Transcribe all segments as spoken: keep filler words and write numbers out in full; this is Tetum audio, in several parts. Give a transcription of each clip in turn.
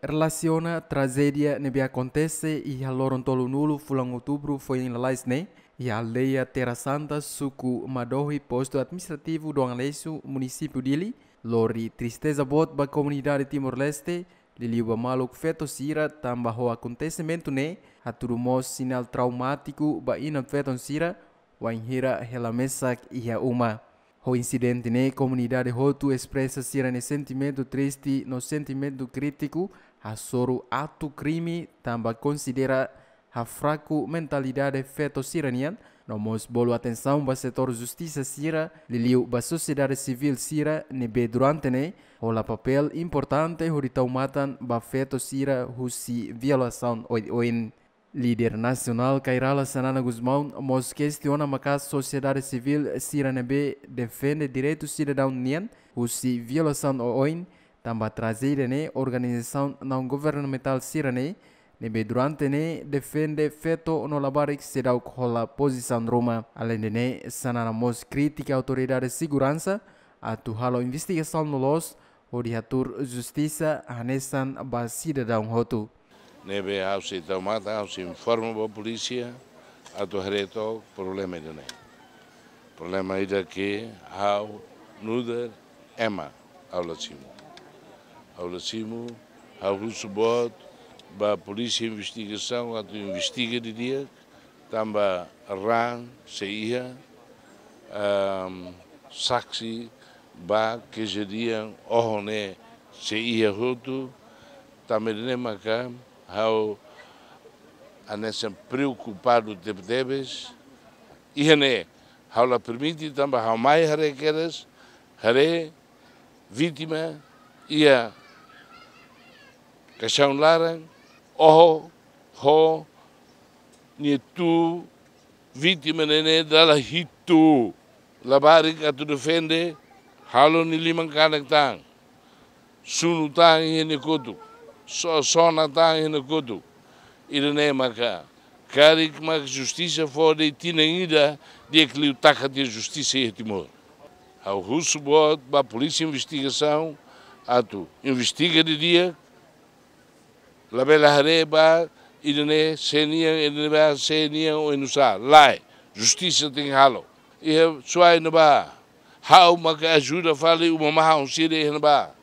Relasiona trajédia ne'ebé akontese iha loron tolunulu fulan Outubru foin lalais ne'e, iha aldeia Terra Santa, suku Madohi, postu administrativu Dom Aleixo, munisípiu Dili, lori tristeza boot ba komunidade Timor-Leste, liuliu ba maluk feto sira, tanba ho akontesimentu ne'e hatudu mós sinál traumátiku ba inan-feton sira, wainhira hela mesak iha uma. Ho insidente ne'e, komunidade hotu espresa sira-nia sentimentu triste no sentimentu krítiku, hasoru aktu krime, tanba konsidera hafraku mentalidade feto sira-nian, no mós bolu atensaun ba setór justisa sira, liuliu ba sosiedade sivíl sira ne'ebé durante ne'e hola papél importante hodi tau matan ba feto sira husi violasaun oioin. Líder nasionál Kay Rala Xanana Gusmão mós kestiona maka'as sosiedade sivíl sira ne'ebé defende direitu sidadaun nian husi violasaun oioin, tanba trajédia ne'e organizasaun naun-governamentál sira-ne'e, ne'ebé durante ne'e defende feto no labarik seidauk hola pozisaun ruma. Aleinde ne'e, Xanana mós kritika autoridade seguransa atu halo investigasaun loloos hodi hatuur justisa hanesan ba sidadaun hotu. Ne'ebé ha'u sei tau matan, ha'u sei informa ba polísia atu haree took problema ida-ne'e. Problema ida ke ha'u nu'udar ema ha'u la simu. Ha'u la simu, ha'u husu boot ba polísia investigasaun atu investiga didi'ak, tanba raan sei iha, ehm, saksi ba kejadian oho ne'e sei iha hotu, tanba ne'e maka ha'u hanesan preokupadu tebetebes. Iha ne'e ha'u la permite tanba ha'u mai haree kedas, haree vítima iha kaixaun laran, oho, ho nia tuur, vítima ne'e dala hitu. Labarik atu defende, halo nia liman kanek tan, sunu tan iha nia kotuk, so-, sona tan iha nia kotuk. Ida-ne'e maka karik mak justisa fó de'it tinan ida, di'ak liu taka tiha justisa iha Timor. Ha'u husu boot ba polísia investigasaun atu investiga didi'ak, labele haree ba ida-ne'e sé nian, ida-ne'ebá sé nian, oinsá, lae, justisa tenke halo. Iha Suai ne'ebá, ha'u maka ajuda fali uma mahon sira iha ne'ebá.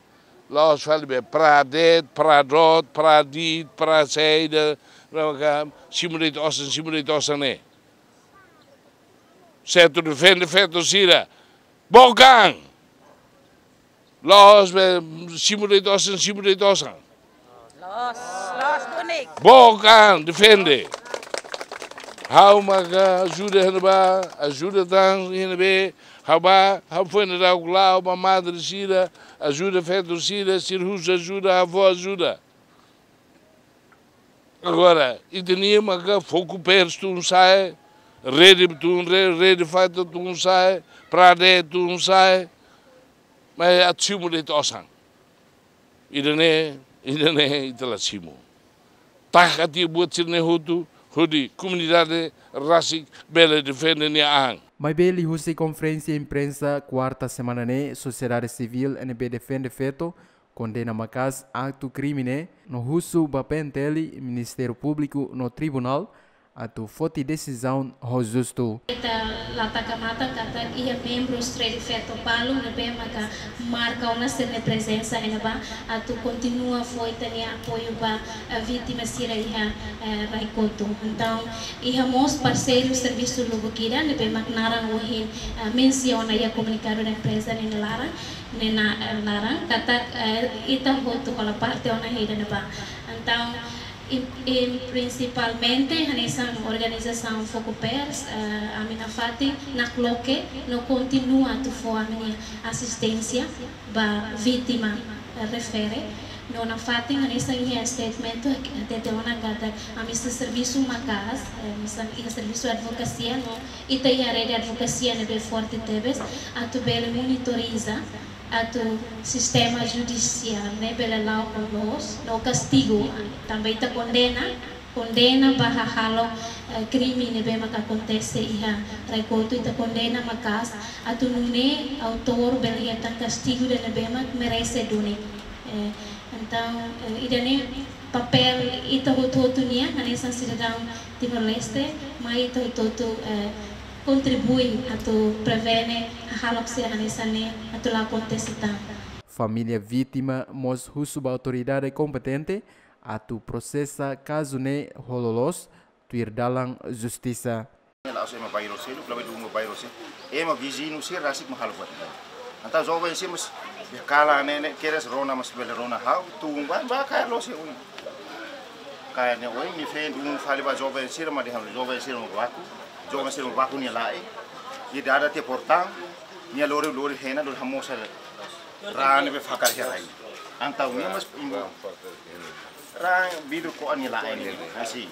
La'ós fali be Praia de'it, Praia doot, Praia di'it, Praia saida, maka simu de'it osan, simu de'it osan ne'e. Sé atu defende feto sira, book an. La'ós be simu de'it osan, simu de'it osan. Loos, loos duni. Book an, defende. Ha'u maka ajuda iha ne'ebá, ajuda tan iha ne'ebé, ha'u bá, ha'u foin daudauk la'o ba madre sira, ajuda feto sira, sira husu ajuda, ha'u fó ajuda. Agora, ita-nia maka Fokupers tun sa'e, Rede tun, re-, Rede Feto tun sa'e, Praia de'it tun sa'e, mas atu simu de'it osan. Ida-ne'e, ida-ne'e ita la simu. Taka tiha buat sira-ne'e hotu, hodi komunidade rasik bele defende nia an. Maibé liuhusi konferénsia imprensa kuarta semana ne'e, sosiedade sivíl ne'ebé defende feto kondena maka'as aktu krime ne'e, no husu ba P N T L, Ministériu Públiku no Tribunál atu foti desizaun ho justu. Ita la taka matan katak iha membrus Rede Feto balu ne'ebé maka marka ona sira-nia prezensa iha ne'ebá atu kontinua fó ita-nia apoiu ba, eh, vítima sira iha, eh, Rai Kotu. Entaun, iha mós parseiru servisu lubuk ida ne'ebé mak naran ohin, eh, mensiona iha komunikadu da imprensa nia laran, nia na-, eh, laran, katak, eh, ita hotu hola parte ona iha ida-ne'ebá. Entaun, i, i prinsipalmente, hanesan organizasaun Fokupers, eh, ami nafatin nakloke no kontinua atu fó ami-nia asisténsia ba vítima, eh, refere. No nafatin hanesan iha statement hatete ona katak ami sei servisu maka'as, eh, hanesan iha servisu advokasia no ita iha rede advokasia ne'ebé forte tebes, atu bele monitoriza atu sistema judisiál ne'e bele la'o ho loos no kastigu. Tanba ita kondena, kondena ba hahalo, eh, krime ne'ebé maka akontese iha Rai Kotu, ita kondena maka'as atu nune'e autór bele hetan kastigu ida ne'ebé mak merese duni. Eh, Entaun, eh, ida-ne'e papél ita hotu-hotu nian, hanesan sidadaun Timor-Leste, mai ita hotu-hotu, eh, kontribui atu prevene hahalok sira hanesan ne'e atu la akontese tan. Família vítima mós husu ba autoridade kompetente atu prosesa kazu ne'e ho loloos tuir dalan justisa. La'ós ema bairru seluk, labele dungu bairru seluk. Ema viziñu sira rasik mak halo buat. Entaun joven sira mós, be kala ne'e ne'e kedas rona mós bele rona ha'u, tun ba, ba kaer loos iha oin. Kaer ne'e oin, nia feen dungu fali ba joven sira, mak dehan joven sira mak baku, joven sira mak baku nia la'en. Nia dada tiha portaun, nia lori, lori hena, lori hamoos raan ne'ebé fakar iha rai. Entaun nia mós, raan vidru ko'a nia la'en ne'e. Asi.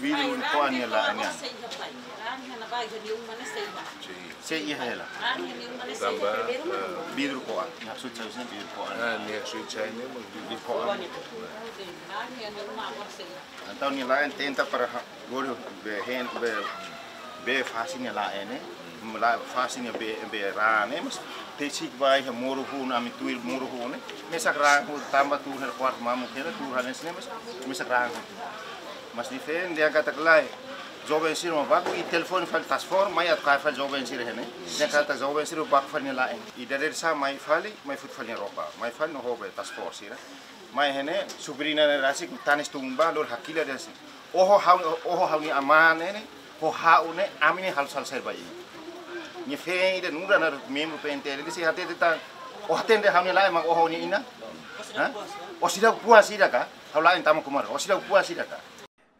Vidru ko'a nia la'en ne'e. Sei iha hela. Tanba, eh, vidru ko'a. Nia haksoit sai husi vidru ko'a. Ah, nia haksoit sai ne'e, mas vidru ko'a. Entaun nia la'en tenta para ha-, gori be hena, be, be fase nia la'en ne'e. La fase nia be, be raan ne'e, mas tesik ba iha moru hun, ami tuir moru hun ne'e. Mesak raan hun tanba tuur hela kuartu mamuk hela, tuur hela ne'e, mas mesak raan hun. Mas nia feen dehan katak lae, joven sira mak baku, i telefone fali task force, mai atu kaer fali joven sira iha ne'e. Dehan katak joven sira baku fali nia la'en. I dadeer-saan mai fali, mai foti fali nia ropa. Mai fali no ho be task force sira. Mai iha ne'e, sobriña ne'e rasik, tanis tun ba, lori hakilar dehan si. Oho ha'u, oho ha'u-nia amá ne'e, ho ha'u ne'e, ami ne'e halo sala saida ba imi. Nia feen ida nu'udar membru P N T L, nia sei hatete tan, o hatene ha'u-nia la'en mak oho nia inan? Hah? O seidauk puas ida ka? Ha'u la'en tama kumar, o seidauk puas ida ka?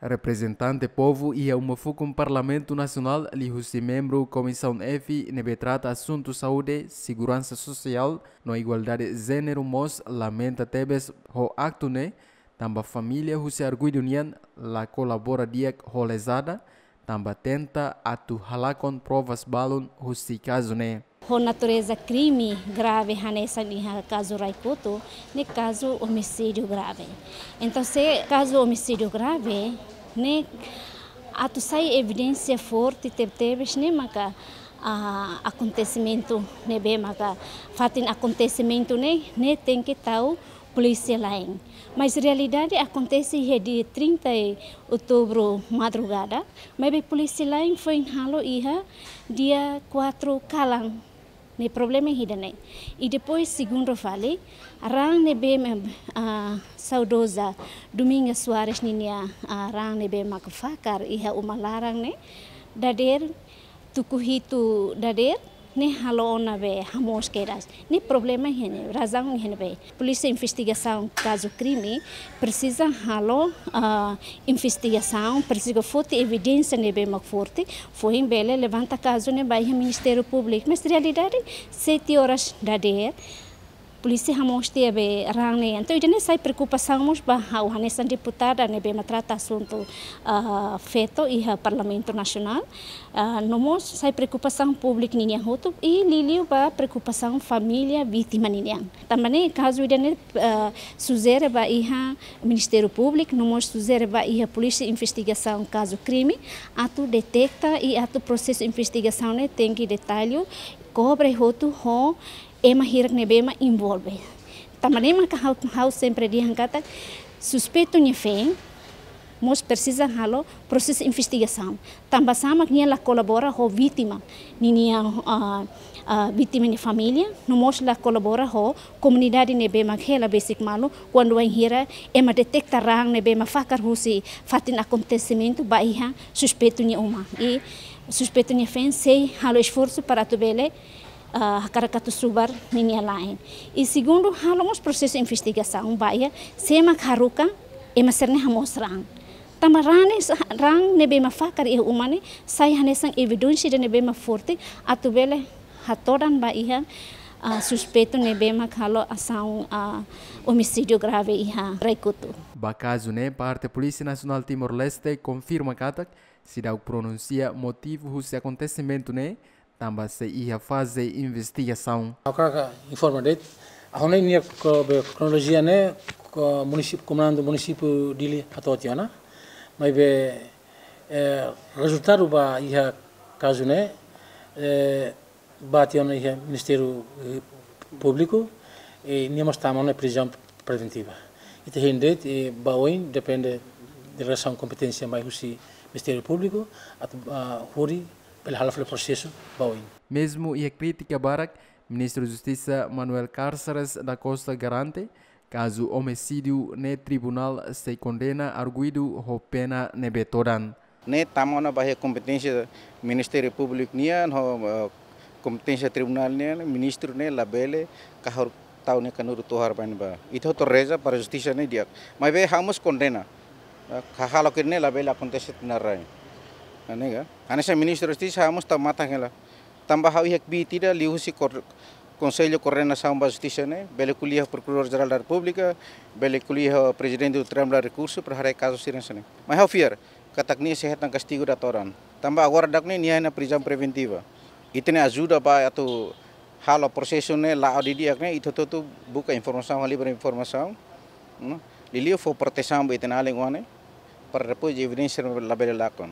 Reprezentante povu iha uma fukun Parlamentu Nasionál liuhusi membru Komisaun F ne'ebé trata asuntu saúde, seguransa sosiál no igualdade jéneru mós lamenta tebes ho aktu ne'e, tanba família husi arguidu nian la kolabora di'ak ho lezada, tanba tenta atu halakon provas balun husi kazu ne'e. Ho natureza krime grave hanesan iha kazu Rai-Kutu, ne'e kazu omisídiu grave. Entaun, se kazu omisídiu grave, ne'e atu sai evidénsia forte tebetebes ne'e maka, ah, akontesimentu ne'ebé maka fatin akontesimentu ne'e, ne'e tenke tau polísia la'en. Mas realidade akontese iha dia trinta de outubro madrugada, maibé polísia la'en foin halo iha dia quatro kalan. Ne'e problema ida-ne'e. I depois segundu fali, raan ne'ebé, ah, saudoza Dominga Soares ninia, ah, raan ne'ebé mak fakar iha uma laran ne'e, dadeer tuku hitu dadeer, ne'e halo ona be hamoos kedas. Ne'e problema iha ne'e, razaun iha ne'ebé. Polísia investigasaun kazu krime presiza halo, ah, investigasaun, presiza foti evidénsia ne'ebé mak forte, foin bele levanta kazu ne'e ba iha Ministériu Públiku. Mas realidade, sete horas dadeer, polísia hamoos tiha be raan ne'e. Entaun, ida-ne'e sai preokupasaun mós ba ha'u hanesan deputada ne'ebé mak trata asuntu, ah, feto iha Parlamentu Nasionál. Ah, no mós sai preokupasaun públiku ninian hotu i liuliu ba preokupasaun família vítima ninian. Tanba ne'e kazu ida-ne'e, ah, sujere ba iha Ministériu Públiku, no mós sujere ba iha Polísia Investigasaun Kazu Krime, atu deteta i atu prosesu investigasaun ne'e tenke detallu, kobre hotu ho ema hirak ne'ebé mak envolve. Tanba ne'e maka ha'u, ha'u sempre dehan katak suspeitu nia feen mós presiza halo prosesu investigasaun. Tanba sá mak nia la kolabora ho vítima ninia, ah, ah, vítima nia família, no mós la kolabora ho komunidade ne'ebé mak hela besik malu, kuandu wainhira ema deteta raan ne'ebé mak fakar husi fatin akontesimentu ba iha suspeitu nia uma. I suspeitu nia feen sei halo esforsu para atu bele, ah, hakarak atu subar ninia la'en. I segundu, halo mós prosesu investigasaun ba iha sé mak haruka ema sira-ne'e hamoos raan. Tanba raan ne'e sa-, raan ne'ebé mak fakar iha uma ne'e sai hanesan evidénsia ida ne'ebé mak forte atu bele hatodan ba iha, ah, suspeitu ne'ebé mak halo asaun, ah, omisídiu grave iha Rai-Kutu. Ba kazu ne'e, parte Polísia Nasionál Timor-Leste konfirma katak seidauk pronunsia motivu husi akontesimentu ne'e, tanba sei iha faze investigasaun. Ha'u hakarak informa de'it, ha'u hanoin nia kro-, be kronolojia ne'e, ko-, munisípiu, komandu munisípiu Dili hato'o tiha ona. Maibé, eh, rezultadu ba iha kazu ne'e, eh, bá tiha ona iha Ministériu, eh, Públiku, E nia mós tama ona prizaun preventiva. Ita hein de'it, e ba oin depende delegasaun kompeténsia mai husi Ministériu Públiku atu, ah, hodi bele hala'o fali prosesu ba oin. Mezmu iha krítika barak, Ministru Justisa Manuel Cárceres da Costa garante, kazu omisídiu ne'e tribunál sei kondena arguidu ho pena ne'ebé todan. Ne'e tama ona ba iha kompeténsia Ministériu Públiku nian, ho, eh, kompeténsia tribunál nian, ministru ne'e labele kahur tau nia kanuru tohar ba ne'ebá. Ita hotu reza para justisa ne'e di'ak. Maibé ha'u mós kondena. Eh, halo kir ne'e labele akontese tinan rai. Ne'e ka? Hanesan Ministru Justisa ha'u mós tau matan hela. Tanba ha'u iha kbiit ida liuhusi kor-, Konsellu Koordenasaun ba Justisa ne'e, bele ko'alia Prokuradór Jerál da Repúblika, bele ko'alia Prezidente Tribunál Rekursu, para haree kazu sira hanesan ne'e. Mas ha'u fiar, katak nia sei hetan kastigu ida todan. Tanba agora daudaun ne'e nia iha ona prizaun preventiva. Ita-nia ajuda ba atu halo prosesu ne'e la'o didi'ak ne'e, ita hotu buka informasaun, halibur informasaun, no? Liuliu fó protesaun ba ita-nia alin oan ne'e, para depois evidénsia labele lakon.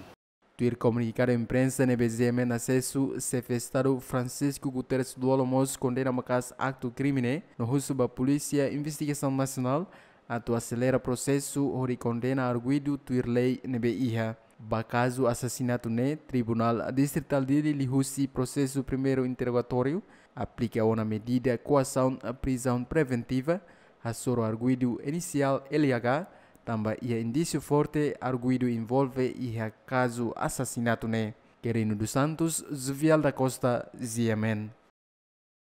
Tuir komunikadu imprensa ne'ebé G M N asesu, Xefe Estadu Francisco Guterres Lú-Olo mós kondena maka'as aktu krime ne'e, no husu ba Polísia Investigasaun Nasionál atu aselera prosesu hodi kondena arguidu tuir lei ne'ebé iha. Ba kazu asasinatu ne'e, Tribunál Distritál Dili liuhusi prosesu primeiru interrogatóriu aplika ona medida koasaun prizaun preventiva, hasoru arguidu inisiál L H H, tanba iha indísiu forte arguidu envolve iha kazu asasinatu ne'e. Quirino dos Santos, Jovial da Costa, G M N.